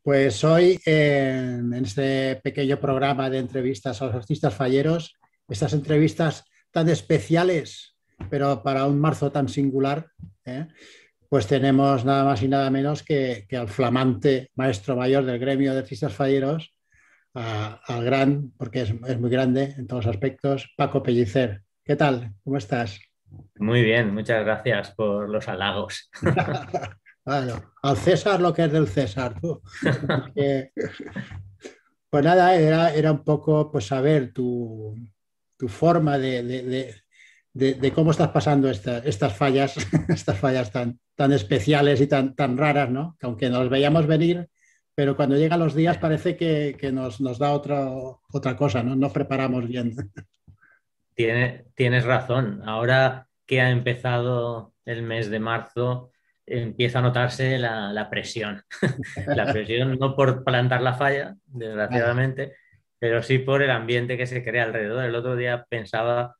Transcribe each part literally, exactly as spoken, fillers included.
Pues hoy en, en este pequeño programa de entrevistas a los artistas falleros, estas entrevistas tan especiales, pero para un marzo tan singular, ¿eh? Pues tenemos nada más y nada menos que, que al flamante maestro mayor del gremio de artistas falleros, a- al gran, porque es, es muy grande en todos los aspectos, Paco Pellicer. ¿Qué tal? ¿Cómo estás? Muy bien, muchas gracias por los halagos. Bueno, al César lo que es del César, tú. Que, pues nada, era, era un poco pues saber tu, tu forma de, de- de- de- de cómo estás pasando esta- estas fallas, estas fallas tan, tan especiales y tan, tan raras, ¿no? Que aunque nos veíamos venir, pero cuando llegan los días parece que, que nos, nos da otra, otra cosa, ¿no? No preparamos bien. Tiene- tienes razón. Ahora que ha empezado el mes de marzo, empieza a notarse la, la presión. La presión no por plantar la falla, Ah, desgraciadamente, pero sí por el ambiente que se crea alrededor. El otro día pensaba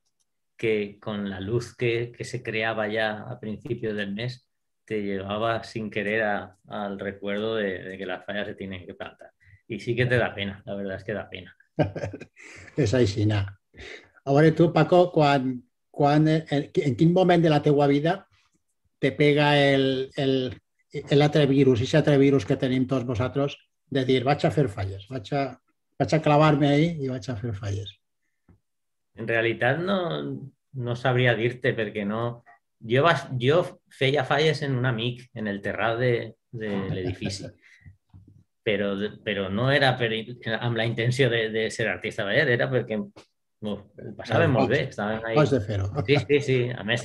que con la luz que, que se creaba ya a principios del mes, te llevaba sin querer a- al recuerdo de, de que las fallas se tienen que plantar. Y sí que te da pena, la verdad es que da pena. és així, no? A veure, tu, Paco, quan, quan, en, en quin moment de la teua vida te pega el, el, l'altre virus, aquest altre virus que tenim tots vosaltres, de dir, vaig a fer falles, vaig a, vaig a clavar-me ahí i vaig a fer falles. En realitat no, no sabria dir-te perquè no... Jo, vas, jo feia falles en un amic, en el terrat de, de l'edifici, però, però no era per, amb la intenció de, de ser artista baller, era perquè no, ho passàvem molt Pots, bé, estàvem ahí. pots de fer-ho. Sí, sí, sí, a més,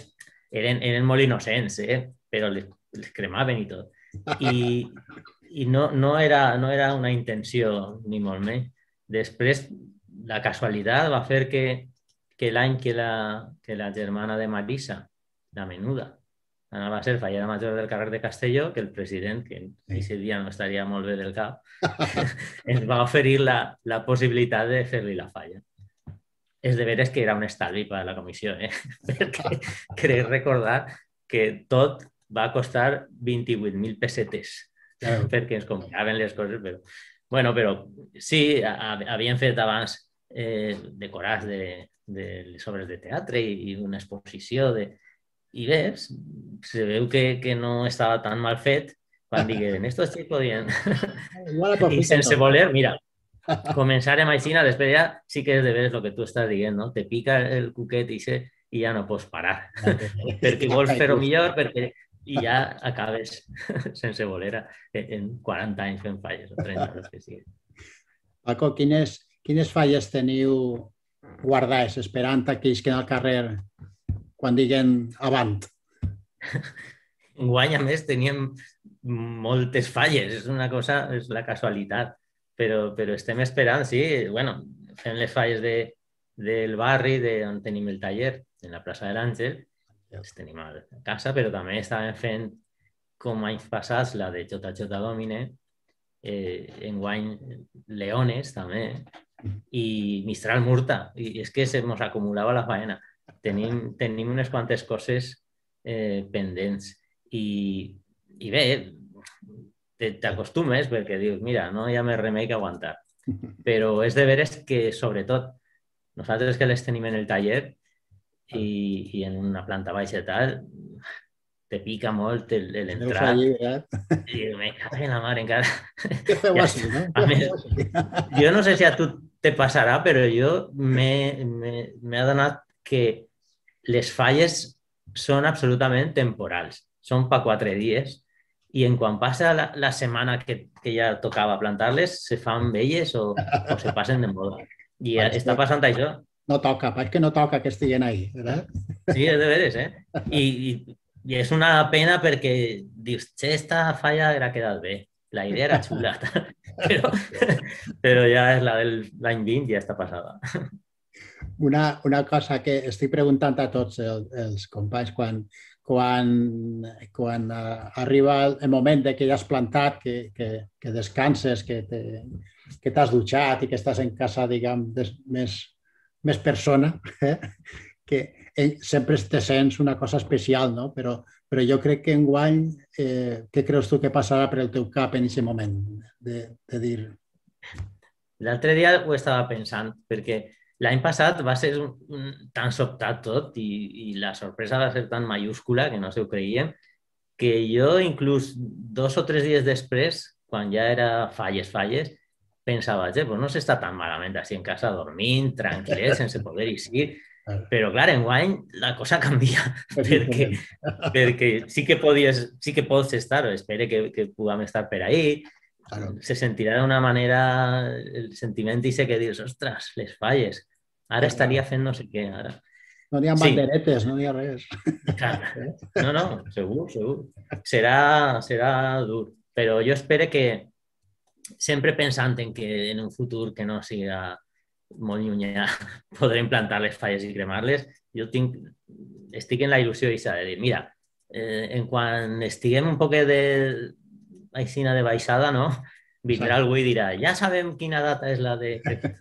eren, eren molt innocents, eh? Però les, les cremaven i tot. I, i no, no, era, no era una intenció, ni molt menys. Després, la casualitat va fer que, que l'any que la, que la germana de Marisa, la menuda, anava a ser fallera major del carrer de Castelló, que el president, que Sí. aquest dia no estaria molt bé del cap, ens va oferir la, la possibilitat de fer-li la falla. És de veres que era un estalvi per a la comissió, eh? Perquè crec recordar que tot va costar vint-i-vuit mil pessetes Claro. perquè ens compraven les coses, però... Bueno, però sí, havien fet abans eh, decorats de, de les obres de teatre i, i una exposició de... I ves, se veu que, que no estava tan mal fet quan digueren, estos sí podien... Igual I aprofita sense tot. voler, mira, començar amb així, després ja sí que és de veres el que tu estàs dient, no? Te pica el cuquet i, se, i ja no pots parar, Ja té. perquè vols fer-ho Just. millor, perquè i ja acabes sense voler en quaranta anys fent falles o trenta, no sé si. Paco, quines, quines falles teniu guardades esperant a que isquen al carrer quan diguen avant? Enguany, a més, teníem moltes falles, és una cosa, és la casualitat, però, però estem esperant, sí, bueno, fem les falles de, del barri de on tenim el taller, en la plaça de l'Àngel, les tenim a casa, però també estàvem fent, com anys passats, la de Jota Jota Domine, eh, enguany Leones, també, i Mistral Murta, i és que se mos acumulava la faena. Tenim, tenim unes quantes coses eh, pendents i, i bé, t'acostumes perquè dius, mira, no hi ha més remei que aguantar. Però és de veres que, sobretot, nosaltres que les tenim en el taller i, i en una planta baixa i tal, te pica molt Deus l'entrar allí, veritat? i me cago en la mar encara. Què feu Ja així, està. no? A Què més, feu així? jo no sé si a tu te passarà, però jo m'he adonat que les falles són absolutament temporals. Són per quatre dies i en quan passa la, la setmana que, que ja tocava plantar-les, se fan velles o, o se passen de moda. I Pareix està que passant això. no toca, pareix que no toca que estiguen ahí, ¿verdad? Sí, és de veres, eh? I, i, i és una pena perquè dius, che, esta falla era quedat bé, la idea era xula, però, però ja és la del l'any vint, ja està passada. Una, una cosa que estic preguntant a tots el, els companys quan, quan, quan uh, arriba el moment de que ja has plantat, que, que, que descanses, que te, que t'has dutxat i que estàs en casa, diguem, des, més, més persona, eh? Que eh, sempre te sents una cosa especial, no? Però, però jo crec que enguany, eh, què creus tu que passarà per el teu cap en aquest moment? De, de dir... L'altre dia ho estava pensant, perquè l'any passat va ser un, un, tan sobtat tot i, i la sorpresa va ser tan mayúscula que no se ho creien, que jo inclús dos o tres dies després, quan ja era falles, falles, pensava, eh, pues no s'està tan malament així en casa dormint, tranquil·let, sense poder eixir. Però, clar, enguany la cosa canvia, perquè, perquè sí que podies, sí que pots estar, o espero que, que puguem estar per ahí, claro. Se sentirà d'una manera el sentiment i sé que dius, ostres, les falles, ara claro. Estaria fent no sé què, ara. No n'hi ha sí. Banderetes, no n'hi ha res. Clar. No, no, segur, segur. Serà, serà dur, però jo espero que sempre pensant en que en un futur que no siga molt llunyà podrem plantar les falles i cremar-les, jo tinc, estic en la il·lusió de dir, mira, eh, en quan estiguem un poc de aixina de baixada, no? Vindrà algú i dirà, ja sabem quina data és la de,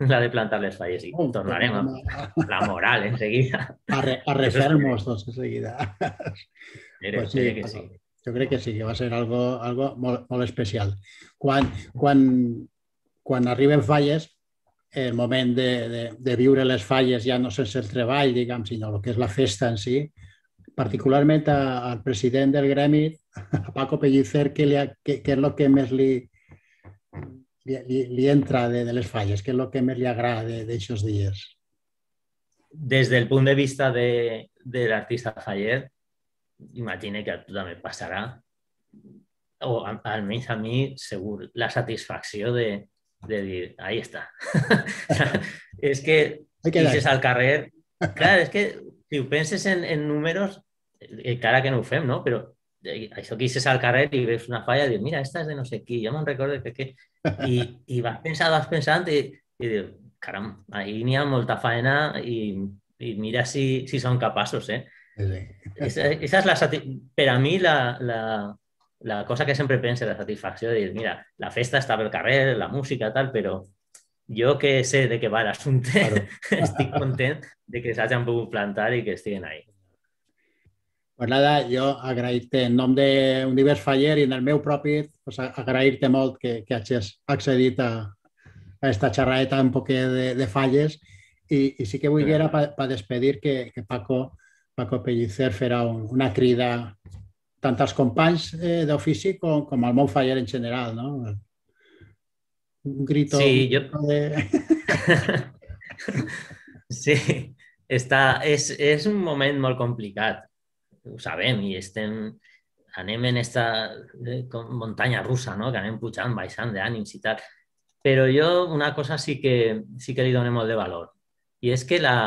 la de plantar les falles i oh, tornarem a la moral enseguida. A, re, a refer-nos tots enseguida. Pues sí, que sí. Jo crec que sí, que va ser algo, algo molt, molt especial. Quan, quan, quan arriben falles, el moment de, de, de viure les falles ja no sense el treball, diguem, sinó el que és la festa en si, particularment a, al president del gremi, a Paco Pellicer, què, li ha, què, què és el que més li, li, li entra de, de les falles? Què és el que més li agrada d'aixòs dies? Des del punt de vista de, de l'artista faller, imagine que a tu també passarà, o almenys a mi segur, la satisfacció de, de dir, ahí està. És que deixes al carrer... Clar, és que si ho penses en, en números, encara que no ho fem, no? Però això que deixes al carrer i veus una falla i dius, mira, esta és de no sé qui, jo me'n recordo que... que... I, i vas pensant, vas pensant i, i dius, caram, ahí n'hi ha molta faena i, i mira si, si són capaços, eh? Sí. Esa, esa és la per a mi la, la, la cosa que sempre penso, la satisfacció de dir, mira, la festa està pel carrer, la música, tal, però jo que sé de què va l'assumpte, claro. Estic content de que s'hagin pogut plantar i que estiguen ahí. Pues nada, jo agrair-te en nom d'Univers Faller i en el meu propi, pues agrair-te molt que, que hagis accedit a, a esta xerradeta un poc de, de falles i, i sí que vull era per pa despedir que, que Paco Paco Pellicer farà un, una crida tant als companys eh, d'ofici com, com al món faller en general, no? Un grito... Sí, jo... De... sí, està, és, és un moment molt complicat, ho sabem, i estem, anem en esta eh, muntanya russa, no? Que anem pujant, baixant d'ànims i tal. Però jo una cosa sí que, sí que li dono molt de valor, i és que la...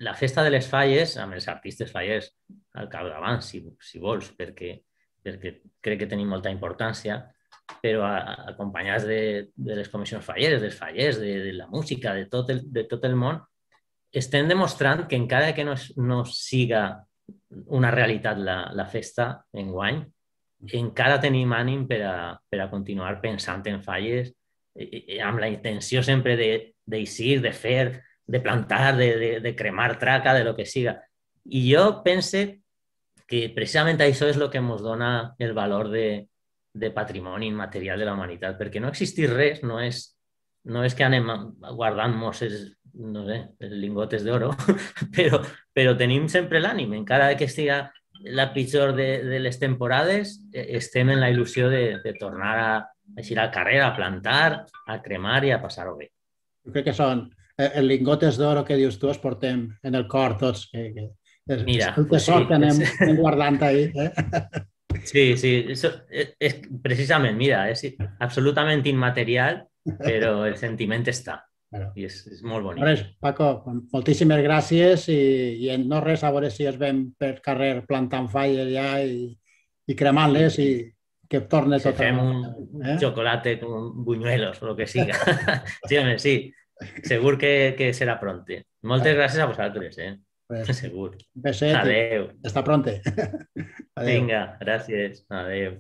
La festa de les falles, amb els artistes fallers al capdavant, si, si vols, perquè, perquè crec que tenim molta importància, però acompanyats de, de les comissions falleres, dels fallers, de, de la música, de tot, el, de tot el món, estem demostrant que encara que no, no siga una realitat la, la festa enguany, encara tenim ànim per a, per a continuar pensant en falles, i, amb la intenció sempre d'eixir, de, de fer, de plantar, de, de, de cremar traca, de lo que siga. I jo pense que precisament això és el que ens dona el valor de, de patrimoni immaterial de la humanitat, perquè no existir res no és, no és que anem guardant mosses, no sé, lingotes d'oro, però, però tenim sempre l'ànim, encara que estiga la pitjor de, de les temporades, estem en la il·lusió de, de tornar a eixir al carrer, a plantar, a cremar i a passar-ho bé. Jo crec que són els lingotes d'oro que dius tu, els portem en el cor tots, que, que és Mira, el tesor sí, que anem, és... anem guardant ahí. Eh? Sí, sí, és, és, precisament, mira, és absolutament immaterial, però el sentiment està, bueno, i és, és molt bonic. Res, Paco, moltíssimes gràcies i, i en no res, a veure si es ven per carrer plantant falles ja i, i cremant-les i que torne tot. Si fem un eh? xocolate con buñuelos o el que siga. Sí, home, sí. Segur que, que serà pronte. Moltes gràcies a vosaltres, eh? Pues, segur. Beset. Adéu. Hasta pronte. Adéu. Vinga, gràcies. Adéu.